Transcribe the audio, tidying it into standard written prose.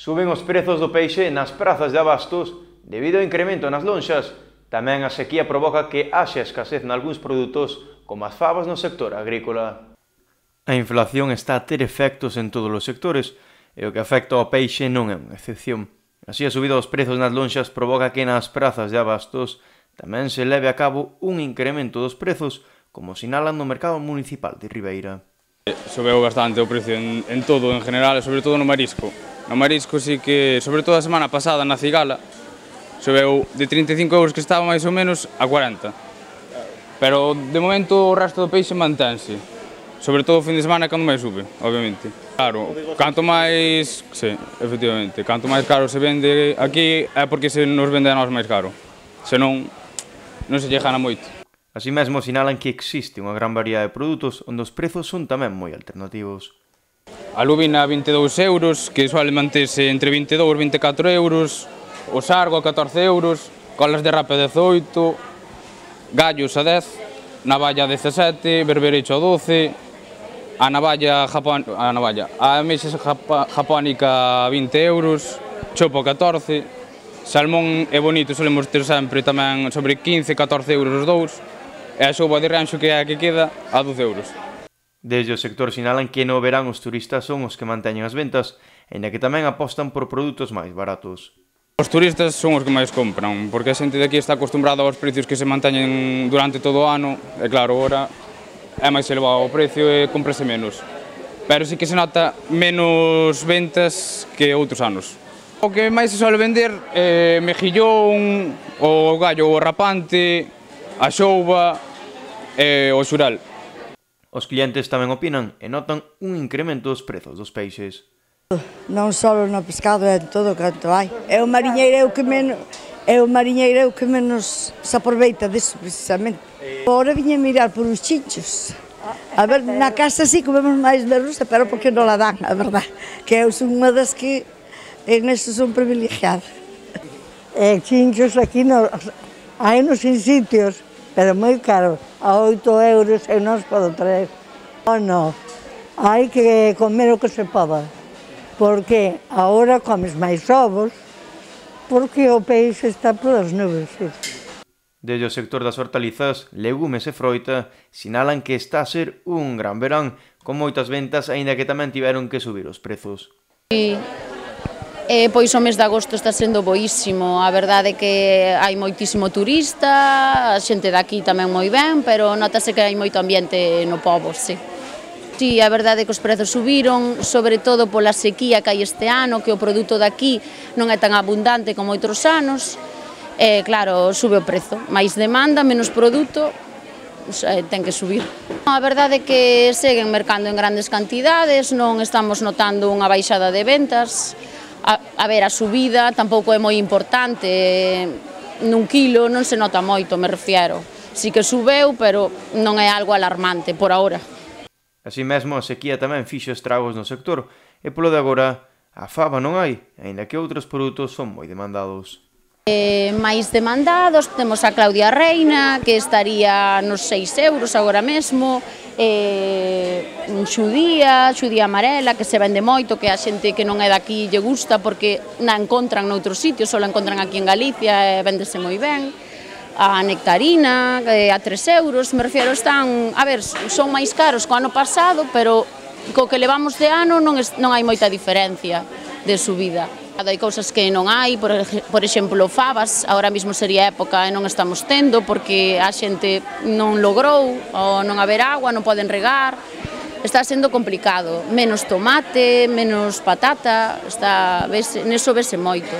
Suben os prezos do peixe nas prazas de abastos debido ao incremento nas lonxas. Tamén a sequía provoca que haxa escasez nalgúns produtos como as fabas no sector agrícola. A inflación está a ter efectos en todos os sectores e o que afecta ao peixe non é unha excepción. Así, a subida dos prezos nas lonxas provoca que nas prazas de abastos tamén se leve a cabo un incremento dos prezos, como sinalan no mercado municipal de Ribeira. Subeu bastante o precio en todo, en general, e sobre todo no marisco. No marisco sí que, sobre todo a semana pasada na cigala, subeu de 35 euros que estaba máis ou menos a 40. Pero de momento o resto do peixe mantense. Sobre todo o fin de semana é cando máis sube, obviamente. Claro, canto máis, sí, efectivamente, canto máis caro se vende aquí é porque se nos vende a nós máis caro. Senón, non se lle gana moito. Así mesmo sinalan que existe unha gran variedade de produtos onde os prezos son tamén moi alternativos. A lubina a 22 euros, que suele manterse entre 22 e 24 euros, o sargo a 14 euros, colas de rape a 18, gallos a 10, navalla a 17, berberecho a 12, a mexa japónica a 20 euros, chopo a 14, salmón e bonito solemos ter sempre tamén sobre 15, 14 euros os dous, e a xouba de ranxo que é a que queda a 12 euros. Desde o sector sinalan que no verán os turistas son os que manteñen as ventas, aínda que tamén apostan por produtos máis baratos. Os turistas son os que máis compran, porque a xente de aquí está acostumbrada aos precios que se manteñen durante todo o ano, e claro, agora é máis elevado o precio e cómprase menos. Pero sí que se nota menos ventas que outros anos. O que máis se suele vender é mexillón, o gallo rapante, a xouba e o xural. Os clientes tamén opinan e notan un incremento dos prezos dos peixes. Non só no pescado, é en todo canto hai. É o mariñeireo que menos se aproveita disso, precisamente. Agora viña mirar por os chinchos. A ver, na casa sí comemos máis merluza, pero porque non la dan, a verdade. Que eu son unha das que en eso son privilegiada. Chinchos aquí hai nos sitios, pero moi caro. A 8 euros eu non os podo traer. Non, hai que comer o que se poda. Porque agora comes máis ovos, porque o peixe está polas nubes. Desde o sector das hortalizas, legumes e froita, sinalan que está a ser un gran verán, con moitas ventas, aínda que tamén tiveron que subir os prezos. Pois o mes de agosto está sendo boísimo, a verdade é que hai moitísimo turista, a xente daqui tamén moi ben, pero notase que hai moito ambiente no pobo, sí. Sí, a verdade é que os prezos subiron, sobre todo pola sequía que hai este ano, que o produto daqui non é tan abundante como outros anos, e claro, sube o prezo, máis demanda, menos produto, ten que subir. A verdade é que seguen mercando en grandes cantidades, non estamos notando unha baixada de ventas. A ver, a subida tampouco é moi importante, nun quilo non se nota moito, me refiero. Si que subeu, pero non é algo alarmante por ahora. Así mesmo, a sequía tamén fixo estragos no sector, e polo de agora, a faba non hai, aínda que outros produtos son moi demandados. Máis demandados, temos a Claudia Reina, que estaría nos 6 euros agora mesmo, xudía amarela, que se vende moito, que a xente que non é daqui lle gusta porque na encontran noutros sitios, só la encontran aquí en Galicia e vendese moi ben. A nectarina, a 3 euros, me refiero, están, a ver, son máis caros que o ano pasado, pero co que levamos de ano non hai moita diferencia de subida. Hai cousas que non hai, por exemplo, fabas, agora mesmo sería época e non estamos tendo porque a xente non logrou, ou non haber agua, non poden regar, está sendo complicado, menos tomate, menos patata, neso vese moito.